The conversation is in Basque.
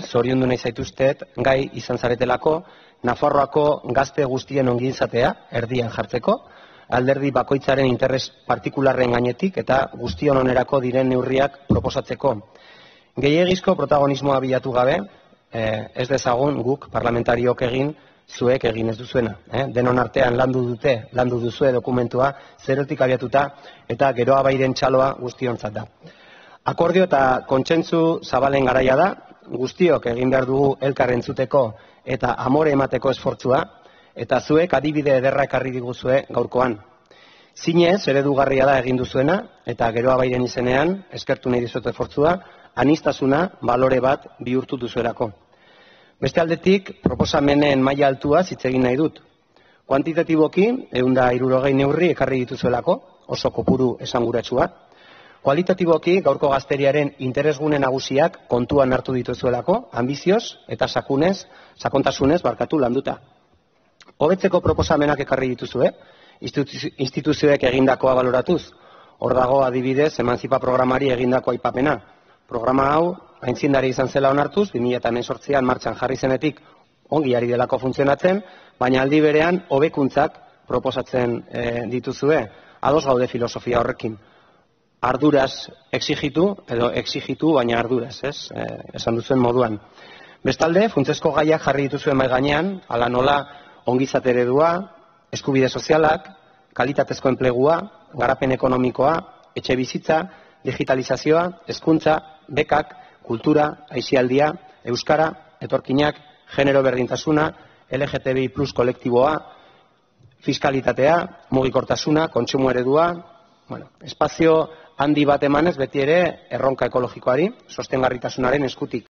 zoriondu nahi zaituztet gai izan zaretelako Nafarroako gazte guztien ongizatea erdian jartzeko, alderdi bakoitzaren interes partikularren gainetik eta guztion onerako diren neurriak proposatzeko. Gehiegizko protagonismoa bilatu gabe, ez dezagun guk parlamentariok egin, zuek egin ez duzuena. Denon artean landu duzue dokumentua, zerotik abiatuta eta geroa bairen txaloa guztiontzat da. Akordio eta kontsentsu zabalen garaia da, guztiok egin behar dugu elkar entzuteko eta amore emateko esfortzua, eta zuek adibide ederra ekarri diguzue gaurkoan. Zinez, eredugarria da egin duzuena, eta geroa bairen izenean, eskertu nahi dizut esfortzua, aniztasuna balore bat bihurtu duzuelako. Beste aldetik, proposamenen maila altua hitz egin nahi dut. Kuantitatiboki, 160 neurri ekarri dituzuelako, oso kopuru esanguratsua. Kualitatiboki, gaurko gazteriaren interesgune nagusiak kontuan hartu dituzuelako, ambizioz eta sakontasunez landuta. Hobetzeko proposamenak ekarri dituzue, instituzioek egindakoa baloratuz. Hor dago adibidez, Emantzipa programari egindako aipapena. Programa hau, aintzindari izan zela onartuz, 2018an martxan jarri zenetik ongi ari delako funtzionatzen, baina aldi berean hobekuntzak proposatzen dituzue, ados gaude filosofia horrekin. Arduraz exigitu, edo exigitu, baina arduraz, esan duzuen moduan. Bestalde, funtsezko gaiak jarri dituzuen mahai gainean, hala nola ongizate eredua, eskubide sozialak, kalitatezko enplegua, garapen ekonomikoa, etxe bizitza, digitalizazioa, hezkuntza, bekak, kultura, aisialdia, euskara, etorkinak, genero berdintasuna, LGTBI+ kolektiboa, fiskalitatea, mugikortasuna, kontsumo eredua, espazio handi bat emanez beti ere erronka ekologikoari, sostengarritasunaren eskutik.